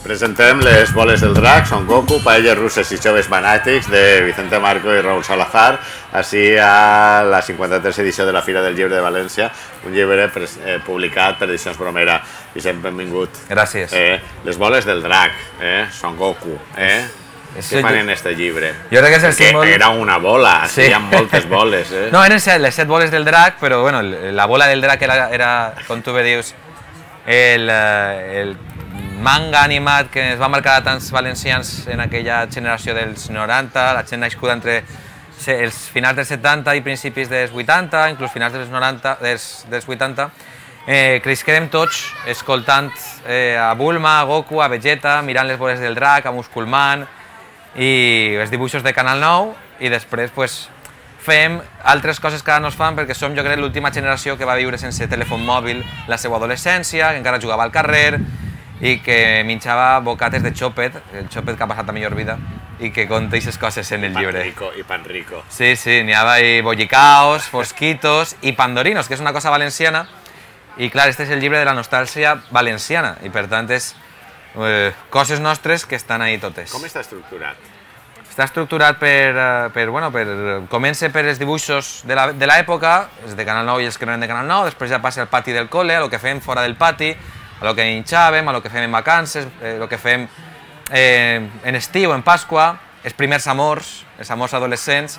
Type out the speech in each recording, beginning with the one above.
Presentem les boles del drac, Son Goku, paelles russes i joves fanàtics de Vicente Marco i Raúl Salazar, així a la 53a edició de la Fira del Llibre de València, un llibre publicat per Edicions Bromera. Vicent, benvingut. Gràcies. Les boles del drac, Son Goku, què fan en este llibre? Jo crec que és el símbol... Era una bola, hi ha moltes boles. No, eren les 7 boles del drac, però bueno, la bola del drac era, com tu bé dius, el manga animat que es va marcar a tants valencians en aquella generació dels 90, la gent nascuda entre els finals dels 70 i principis dels 80, inclús finals dels 90, dels 80, cresquem tots escoltant a Bulma, a Goku, a Vegeta, mirant les boles del drac, a Musculman i els dibuixos de Canal 9, i després fem altres coses que ara no es fan perquè som, jo crec, l'última generació que va viure sense telèfon mòbil la seva adolescència, que encara jugava al carrer i que menjava bocates de xòpet, el xòpet que ha passat a millor vida, i que conta aquestes coses en el llibre. I pan rico. Sí, n'hi havia bollicaos, fosquitos i pandorinos, que és una cosa valenciana, i clar, este és el llibre de la nostàlgia valenciana, i per tant és coses nostres que estan ahí totes. Com està estructurat? Està estructurat comença per els dibuixos de l'època, els de Canal 9 i els que no eren de Canal 9, després ja passa al pati del col·le, a lo que fem fora del pati, a lo que hinxàvem, a lo que fem en vacances, a lo que fem en estiu, en Pasqua, els primers amors, els amors adolescents,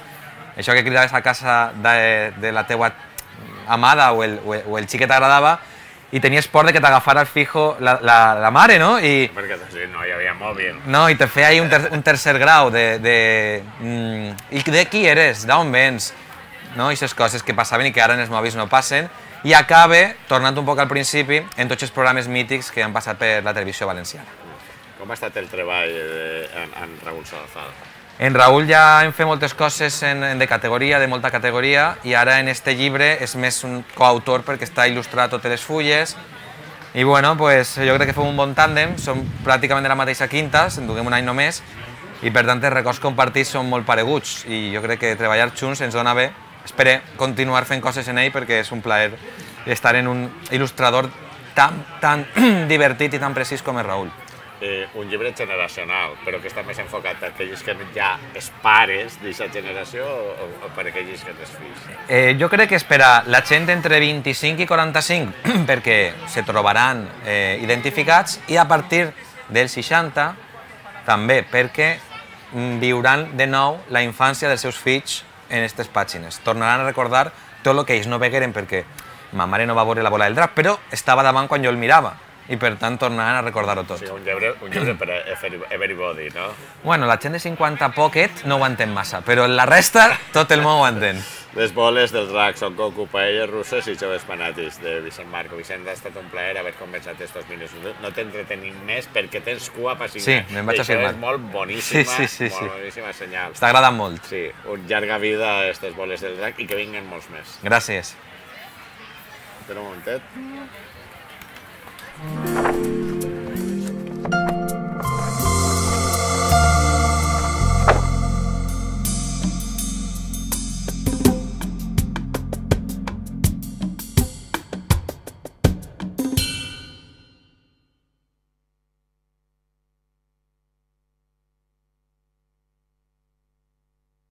això que cridaves a casa de la teua amada o el xiquet agradava, i tenies por de que t'agafara el fijo la mare, no? Perquè no hi havia mòbil. No, i te feia ahí un tercer grau i de qui eres, d'on vens, no? I aquestes coses que passaven i que ara en els mòbils no passen, i acaba, tornant un poc al principi, en tots els programes mítics que han passat per la televisió valenciana. Com ha estat el treball en Raúl Salazar? En Raúl ja hem fet moltes coses de categoria, de molta categoria, i ara en este llibre és més un coautor perquè està il·lustrat totes les fulles, i bueno, jo crec que fem un bon tàndem, som pràcticament de la mateixa quinta, se'n duguem un any només, i per tant els records compartits són molt pareguts, i jo crec que treballar junts ens dona bé. Espero continuar fent coses en ell perquè és un plaer estar en un il·lustrador tan divertit i tan precís com és Raúl. Un llibre generacional, però que està més enfocat per aquells que ja és pares d'aquesta generació o per aquells que tens fills? Jo crec que és per a la gent entre 25 i 45 perquè se trobaran identificats, i a partir dels 60 també perquè viuran de nou la infància dels seus fills en aquestes pàgines. Tornaran a recordar tot el que ells no vegueren perquè ma mare no va veure la bola del drac, però estava davant quan jo el mirava, i per tant tornaran a recordar-ho tot. O sigui, un llibre per a everybody, no? Bueno, la gent de 50 pocket no ho entén massa, però la resta tot el món ho entén. Les boles del drac, Son Goku, paelles russes i joves fanàtics de Vicent Marco. Vicent, ha estat un plaer haver conversat estos minuts. No t'entretenim més perquè tens cua per signar. Sí, me'n vaig a firmar. Això és molt boníssima, sí. boníssima senyal. T'ha agradat molt. Sí, llarga vida a aquestes boles del drac i que vinguen molts més. Gràcies. Espera un momentet.